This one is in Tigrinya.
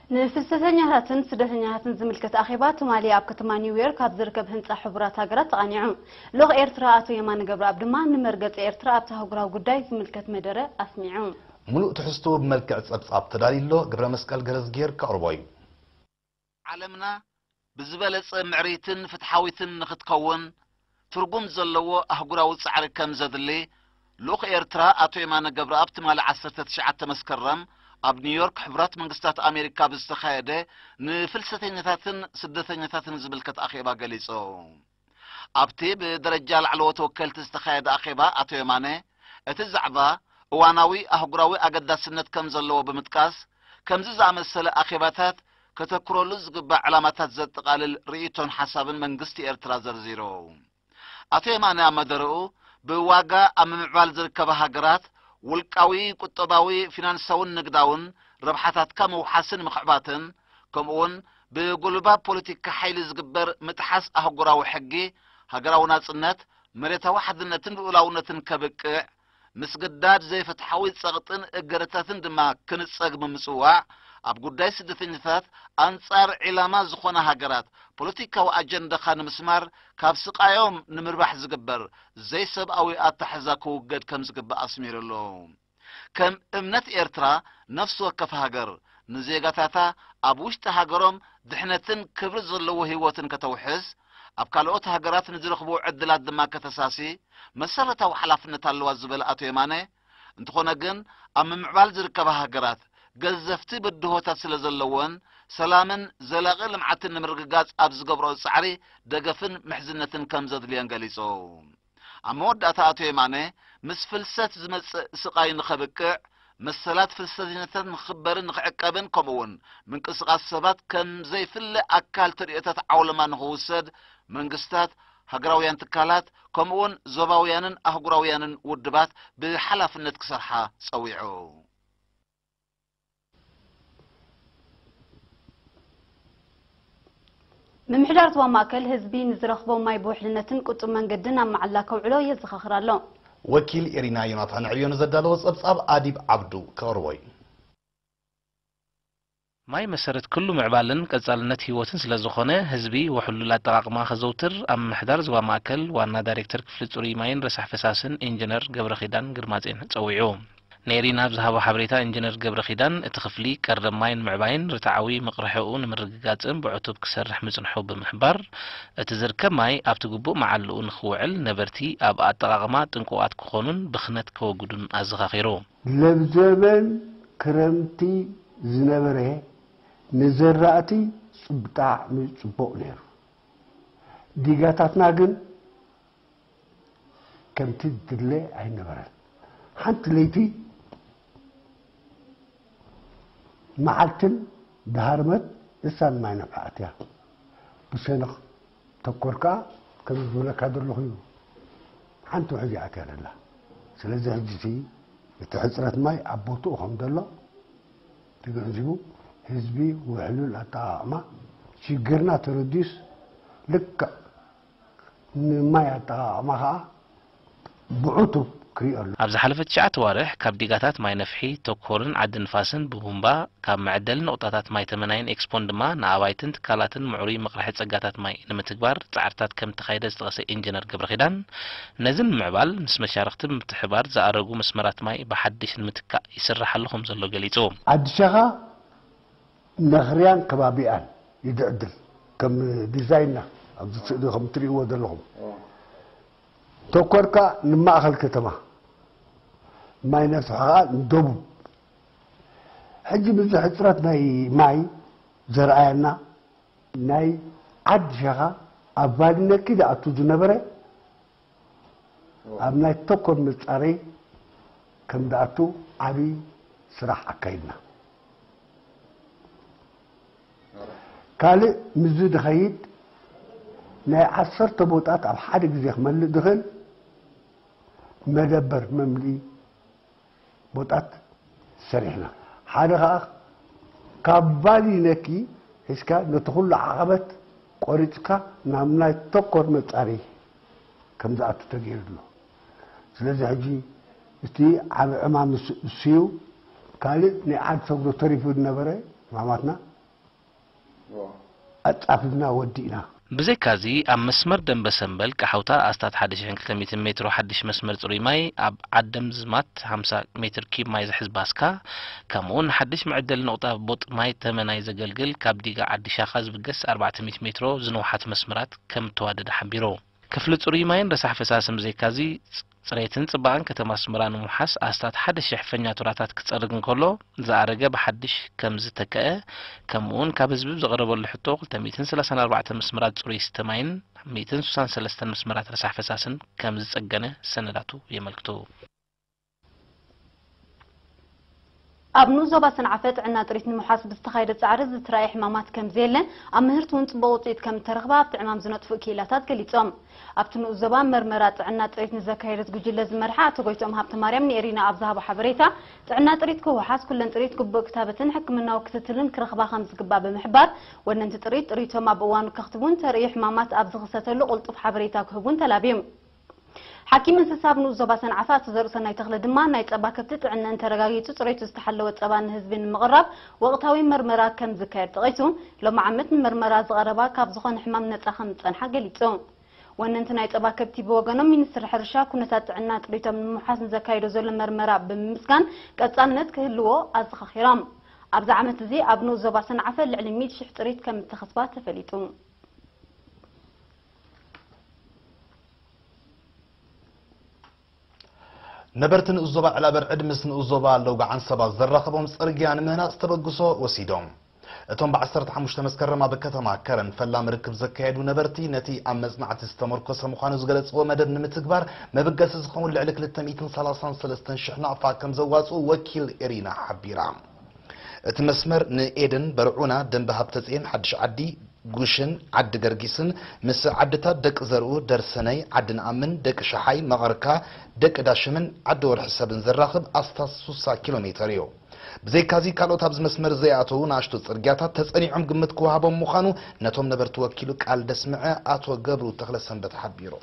ንፍልሰተኛታትን ስደተኛታትን ዝምልከት ኣኼባ ትማሊ ኣብ ከተማ ኒውዮርክ ኣብ ዝርከብ ህንጻ ሕቡራት ሃገራት ተቓኒዑ። ልኡኽ ኤርትራ ኣቶ የማነ ገብረኣብ ድማ ንመርገጺ ኤርትራ ኣብቲ ኣህጉራዊ ጉዳይ ዝምልከት መደረ ኣስሚዑ። ሙሉእ ትሕዝትኡ ብመልክዕ ጸብጻብ ተዳልዩ ኣሎ። ገብረ መስቀል ገረዝጊሄር ከቕርቦ እዩ። ዓለምና ብዝበለጸ ምዕርይትን ፍትሓዊትን ንኽትከውን ትርጉም ዘለዎ ኣህጉራዊ ጻዕሪ ከም ዘድሊ ልኡኽ ኤርትራ ኣቶ የማነ ገብረኣብ ትማሊ ዓሰርተ ትሽዓተ መስከረም ኣብ ኒውዮርክ ሕቡራት መንግስታት ኣሜሪካ ብዝተኻየደ ንፍልሰተኛታትን ስደተኛታትን ዝምልከት ኣኼባ ገሊጹ። ኣብቲ ብደረጃ ላዕለዎት ወከልቲ ዝተኻየደ ኣኼባ ኣቶ የማነ እቲ ዛዕባ እዋናዊ ኣህጉራዊ ኣገዳስነት ከም ዘለዎ ብምጥቃስ ከምዚ ዝኣመሰለ ኣኼባታት ከተኩረሉ ዝግባእ ዕላማታት ዘጠቓልል ርእይቶን ሓሳብን መንግስቲ ኤርትራ ዘርዚሩ። ኣቶ የማነ ኣብ መደረኡ ብዋጋ ኣብ ምምዕባል ዝርከባ ሃገራት ውልቃዊ ቁጠባዊ ፊናንሳውን ንግዳውን ረብሓታትካ ምውሓስን ምኽዕባትን ከምኡውን ብጉልባብ ፖለቲካ ሓይሊ ዝግበር ምጥሓስ ኣህጉራዊ ሕጊ ሃገራዊ ናጽነት መሬታዊ ሓድነትን ልኡላውነትን ከብቅዕ ምስግዳድ ዘይፍትሓዊ ጸቕጥን እገደታትን ድማ ክንጸግ ብምጽዋዕ ኣብ ጉዳይ ስደተኛታት ኣንጻር ዒላማ ዝኾና ሃገራት ፖለቲካዊ ኣጀንዳኻ ንምስማር ካብ ስቓዮም ንምርባሕ ዝግበር ዘይሰብኣዊ ኣተሓሕዛ ክውገድ ከም ዝግባእ ኣስሚሩ ኣሎ። ከም እምነት ኤርትራ ነፍሲ ወከፍ ሃገር ንዜጋታታ ኣብ ውሽጢ ሃገሮም ድሕነትን ክብሪ ዘለዎ ህይወትን ከተውሕስ ኣብ ካልኦት ሃገራት ንዝረኽብዎ ዕድላት ድማ ከተሳሲ መሰረታዊ ሓላፍነት ኣለዋ ዝበለ ኣቶ የማነ፣ እንተኾነ ግን ኣብ ምምዕባል ዝርከባ ሃገራት ገዘፍቲ ብድሆታት ስለ ዘለወን ሰላምን ዘላቒ ልምዓትን ንምርግጋጽ ኣብ ዝገብርኦ ጻዕሪ ደገፍን ምሕዝነትን ከም ዘድልየን ገሊጹ። ኣብ መወዳእታ ኣቶ የማነ ምስ ፍልሰት ዝመጽእ ስቓይ ንኸብቅዕ መሰላት ፍልሰተኛታት ንኽኽበርን ንኽዕቀብን ከምኡውን ምንቅስቓስ ሰባት ከም ዘይፍለ ኣካል ተርእዮታት ዓውለማ ንኽውሰድ መንግስታት፣ ሃገራውያን ትካላት ከምኡውን ዞባውያንን ኣህጉራውያንን ውድባት ብሓላፍነት ክሰርሓ ጸዊዑ። ምምሕዳር ዞባ ማእከል ህዝቢ ንዝረኽቦ ማይ ብውሕልነትን ቁጡብ መንገድን ኣብ መዓላ ከውዕሎ የዘኻኽር ኣሎ። ወኪል ኤሪና ዮናታን ዕብዮ ንዘዳለዎ ጸብጻብ ኣዲብ ዓብዱ ከቕርቦ እዩ። ማይ መሰረት ኩሉ ምዕባልን ቀጻልነት ህይወትን ስለ ዝኾነ ህዝቢ ውሕሉል ኣጠቓቕማ ከዘውትር ኣብ ምምሕዳር ዞባ ማእከል ዋና ዳይሬክተር ክፍሊ ጽሩይ ማይን ረሳሕ ፈሳስን ኢንጂነር ገብረኺዳን ግርማጼን ጸዊዑ። ንኤሪና ኣብ ዝሃቦ ሓበሬታ ኢንጂነር ገብረኺዳን እቲ ክፍሊ ቀረብ ማይ ንምዕባይን ርትዓዊ ምቕርሕኡ ንምርግጋጽን ብዕቱብ ክሰርሕ ምጽንሑ ብምሕባር እቲ ዝርከብ ማይ ኣብቲ ግቡእ መዓልኡ ንኽውዕል ነበርቲ ኣብ ኣጠቓቕማ ጥንቁቓት ክኾኑን ብኽነት ከወግዱን ኣዘኻኺሩ። ለብዘበን ክረምቲ ዝነበረ ንዘራእቲ ብጣዕሚ ጽቡቕ ነይሩ። ዲጋታትና ግን ከምቲ ዝድለ ኣይነበረን። ሓንቲ ለይቲ መዓልትን ድሃርመት እሳን ማይ ነፍሓ ኣትያ ብሸነኽ ተኮር ከኣ ከም ዝብለካ ዘለኹ እዩ። ሓንቲ ውሕጅ ኣትያ ደላ። ስለዚ ሕጂ እቲ ሕፅረት ማይ ኣብ ቦትኡ ከም ዘሎ ተገንዚቡ ህዝቢ ውሕሉል ኣጠቓቕማ ሽግርና ተረዲዩስ ልክዕ ንማይ ኣጠቓቕማ ከዓ ብዕቱብ ክሪኦ ኣሎ። ኣብ ዝሓለፈ ትሽዓተ ኣዋርሕ ካብ ዲጋታት ማይ ነፍሒ፣ ተኮርን ዓዲ ንፋስን ብቡምባ ካብ መዐደሊ ነቑጣታት ማይ ተመናይን ኤክስፖን ድማ ንኣባይትን ትካላትን ምዕሩይ መቕርሒ ጸጋታት ማይ ንምትግባር ጻዕርታት ከም እተኻየደ ዝጠቐሰ ኢንጂነር ገብረኺዳን፣ ነዚ ንምምዕባል ምስ መሻርኽቲ ብምትሕብባር ዝኣረጉ መስመራት ማይ ብሓድሽ ንምትካእ ይስራሕ ኣሎ ከም ዘሎ ገሊጹ። ዓዲ ሸኻ ነኽርያን ከባቢኣን ይድዕድል ከም ዲዛይንና ኣብዚ ስእሊ ከም ትርእይዎ ዘለኹም ተኮርካ ንማእኸል ከተማ ማይ ነፍሒ ከዓ ንደቡብ ሕጂ ብዙሕ ሕፅረት ናይ ማይ ዘርኣየና ናይ ዓዲ ሸኻ ኣብ ቫሊ ነኪ ዝኣቱ ዝነበረ ኣብ ናይ ተኮር መፃረይ ከም ዝኣቱ ዓብዪ ስራሕ ኣካይድና። ካልእ ምስዚ ዝኸይድ ናይ ዓሰርተ ቦጣት ኣብ ሓደ ግዜ ክመልእ ዝኽእል መደበር መምልኢ ቦጣት ሰሪሕና። ሓደ ከዓ ካብ ቫሊ ነኪ ሒዝካ ነቲ ኩሉ ዓቐበት ቆሪፅካ ናብ ናይ ተኮር መፃሪ ከም ዝኣቱ ተገይሩ ኣሎ። ስለዚ ሕጂ እቲ ዓብ ዕማም እሱ እዩ። ካልእ ናይ ዓድ ሰግዶ ተሪፉ ዝነበረ ዕማማትና ኣጻፊፍና ወዲእና። ብዘይካዚ ኣብ መስመር ደንበ ሰንበል ቀሓውታ ኣስታት ሓደ ሽሕን ክልተ ሚእትን ሜትሮ ሓድሽ መስመር ጽሩይ ማይ፣ ኣብ ዓደም ዝማት ሓምሳ ሜትር ኪብ ማይ ዝሕዝ ባስካ፣ ከምኡውን ሓድሽ መዕደሊ ነቑጣ ቦጥ ማይ ተመናይ ዘገልግል ካብ ዲጋ ዓዲ ሻኻ ዝብገስ ኣርባዕተ ሚእቲ ሜትሮ ዝንውሓት መስመራት ከም እተዋደደ ሓቢሩ። ክፍሊ ጽሩይ ማይን ረሳሕ ፈሳስን ብዘይካዚ፣ ጽ- ጽሬትን ጽባቐን ከተማ ኣስመራ ንምውሓስ ኣስታት ሓደ ሽሕ ፈኛቱራታት ክጸርግ እንከሎ፣ ዝኣረገ ብሓድሽ ከም ዝተከአ፣ ከምኡውን ካብ ህዝቢ ብዝቐረበሉ ሕቶ ክልተ ሚእትን ሰላሳን ኣርባዕተን መስመራት ጽሩይ ስተ ማይን ሚእትን ስሳን ሰለስተን መስመራት ረሳሕ ፈሳስን ከም ዝጸገነ ሰነዳቱ የመልክቱ። ኣብ ንኡስ ዞባ ሰንዓፈ ጥዕና ጥሪት ንምውሓስ ብዝተኻየደ ጻዕሪ ዝተራእየ ሕማማት ከም ዘየለ፣ ኣብ ምህርቲ እውን ጽቡቕ ውጽኢት ከም እተረኽበ ኣብቲ ዕማም ዝነጥፉ ክኢላታት ገሊጾም። ኣብቲ ንኡስ ዞባ መርመራ ጥዕና ጥሪት ንዘካየደት ጉጅለ ዝመርሓ ኣቶ ጎይትኦም ሃብተማርያም ንኤሪና ኣብ ዝሃቦ ሓበሬታ፣ ጥዕና ጥሪት ክውሓስ ኩለን ጥሪት ግቡእ ክታበትን ሕክምናዊ ክትትልን ክረኽባ ከም ዝግባእ ብምሕባር፣ ወነንቲ ጥሪት ጥሪቶም ኣብ እዋኑ ከኽትቡን ተርእዩ ሕማማት ኣብ ዝኽሰተሉ ቅልጡፍ ሓበሬታ ክህቡን ተላብዩ። ሓኪም እንስሳ ኣብ ንኡስ ዞባ ሰንዓፈ ኣቶ ዘርእሰናይ ተኽለ ድማ፣ ናይ ጸባ ከብቲ ጥዕነን ተረጋጊጹ ጽሬቱ ዝተሓለወ ጸባ ንህዝቢ ንምቕራብ ወቕታዊ መርመራ ከም ዝካየድ ጠቒሱ፣ ሎሚ ዓመት ንመርመራ ዝቐረባ ካብ ዝኾነ ሕማም ነጻ ከም ዝጸንሓ ገሊጹ። ወነንቲ ናይ ጸባ ከብቲ ብወገኖም፣ ሚኒስትሪ ሕርሻ ኩነታት ጥዕና ጥሪቶም ንምውሓስ ንዘካየዶ ዘሎ መርመራ ብምምስጋን፣ ቀጻልነት ክህልዎ ኣዘኻኺሮም። ኣብዚ ዓመት እዚ ኣብ ንኡስ ዞባ ሰንዓፈ ልዕሊ ሚእቲ ሽሕ ጥሪት ከም እተኸስባ ተፈሊጡ። ነበርቲ ንኡስ ዞባ ዕላበርዕድ ምስ ንኡስ ዞባ ለውጋዕ ዓንሰባ ዘራኸቦም ጽርግያ ንምህናጽ ተበግሶ ወሲዶም። እቶም ብ ዓሰርተ ሓሙሽተ መስከረም ኣብ ከተማ ከረን ፈላሚ ርክብ ዘካየዱ ነበርቲ፣ ነቲ ኣብ መጽናዕቲ ዝተመርኮሰ ምዃኑ ዝገለጽዎ መደብ ንምትግባር መበገሲ ዝኸውን ልዕሊ ክልተ ሚእትን ሰላሳን ሰለስተን ሽሕ ናቕፋ ከም ዘዋጽኡ ወኪል ኤሪና ሓቢራ። እቲ መስመር ንኤደን፣ በርዑና፣ ደንበ ሃብተጽዮን፣ ሓድሽ ዓዲ፣ ጉሽን ዓዲ ገርጊስን ምስ ዓድታት ደቂ ዘርኡ፣ ደርሰነይ፣ ዓዲ ንኣምን፣ ደቂ ሸሓይ፣ መቐርካ፣ ደቂ ዳሽምን ዓዲ ወርሒ ሰብን ዘራኽብ ኣስታት ሱሳ ኪሎ ሜተር እዩ። ብዘይካዚ ካልኦት ኣብዚ መስመር ዘይኣተዉ ንኣሽቱ ጽርግያታት ተጸኒዖም ግምት ክወሃቦም ምዃኑ ነቶም ነበርቲ ወኪሉ ቃል ደስምዐ ኣቶ ገብሩ ተኽለሰንበት ሓቢሩ።